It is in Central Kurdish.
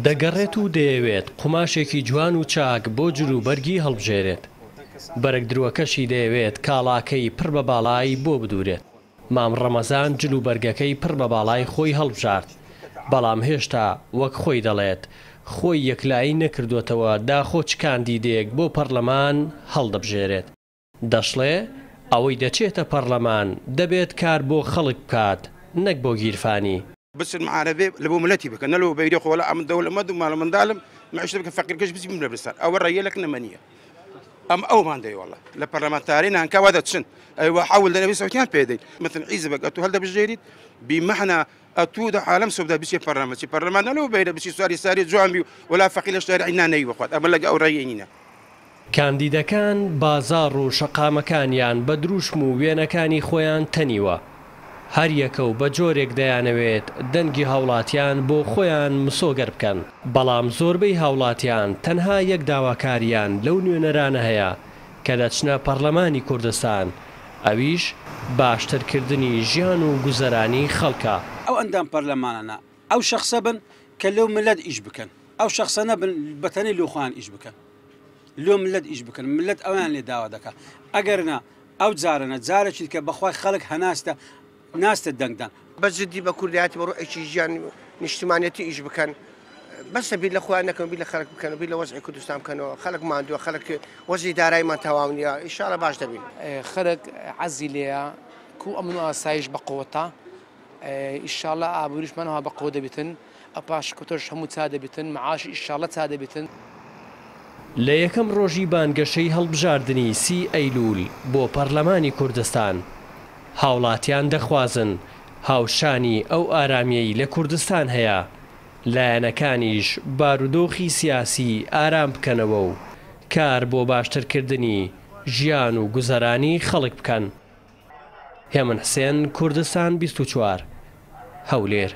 دەگەڕێت و دەیەوێت قوماشێکی جوان و چاک بۆ جلوبەرگی هەڵبژێرێت، بەرگدرووەکەشی دەیەوێت کاڵاکەی پڕ بە باڵای بۆ بدوورێت. مام ڕەمەزان جلوبەرگەکەی پڕ بە باڵای خۆی هەڵبژارد، بەڵام هێشتا وەک خۆی دەڵێت، خۆی یەکلایی نەکردووەتەوە داخۆ چ کاندیدێک بۆ پەڕلەمان هەڵدەبژێرێت. دەشڵێ، ئەوەی دەچێتە پەڕلەمان دەبێت کار بۆ خەڵک بکات نەک بۆ گیرفانی. بچن معارەبێ لە بۆ ملەتی بکەن نە لۆ بەیرێ خۆ وەلا ئەمن دەولەمەند و مالە مندالم معیشە بکە فەقیرکەش بچی بمرە برسان ئەوە ڕێیە لەک نەمەنیە ئەم ئەومان دەی وەڵا لە پەرلەمانتاری نانکا وا دەچن ئەیوە حەول دەنەوی سەوتیان پێ دەین مثل عیزبەک ئەتوو هەڵدەبژێریت بیمەحنا ئەتوو دە عالەم سەودا بچێ پەرلەمان چی پەرلەمان نە لۆ بەیرە بچی سواری ساری جوان بی وەلا فەقیر لە شارعی نانەوی بخوات ئەمە لەگە ئەو ڕێیە نینە. کاندیدەکان بازاڕ و شەقامەکانیان بە دروشم و وێنەکانی خۆیان تەنیوە، هەریەکە و بە جۆرێک دەیانەوێت دەنگی هاوڵاتیان بۆ خۆیان مسۆگەر بکەن، بەڵام زۆربەی هاوڵاتیان تەنها یەک داواکاریان لەو نوێنەرانە هەیە کە دەچنە پەڕلەمانی کوردستان، ئەویش باشترکردنی ژیان و گوزەرانی خەڵکە. ئەو ئەندام پەرلەمانانە ئەو شەخسە بن کە لۆ مللەت ئیش بکەن، ئەو شەخسە نەبن بەتەنێ لۆ خۆیان ئیش بکەن. لۆ مللەت ئیش بکەن مللەت ئەویان لێ داوا دەکا ئەگەر نا ئەو جارەنە جارێکی دیکە بەخوای خەڵک هەناستە ناستە دەنگدان. بە جدی بە کوردایەتی بە ڕوحێکی ژیان نیشتمانیەتی ئیش بکەن بەسە بیر لە خۆیان نەکەن بیر لە خەڵک بکەن و بیر لە وەزعی کوردستان بکەنەوە خەڵک ماندووە خەڵک وەزعی دارایمان تەواو نییە ئیشاڵە باش دەبین. خەرک عەزی لێیە کو ئەمن و ئاسایش بە قوەتە ئیشاڵا ئابوریشمان ئەوها بە قوەت دەبیتن. ئە پاشکەوتەش هەموو چا دەبیتن معاش ئیشاڵە چا دەبیتن. لە یەکەم ڕۆژی بانگەشەی هەڵبژاردنی سی ئەیلول بۆ پەڕلەمانی کوردستان، هاوڵاتیان دەخوازن هاوشانی ئەو ئارامیەی لە کوردستان هەیە، لایەنەکانیش بارودۆخی سیاسی ئارام بکەنەوە و کار بۆ باشترکردنی ژیان و گوزەرانی خەڵک بکەن. هێمن حسێن، کوردستان 24، هەولێر.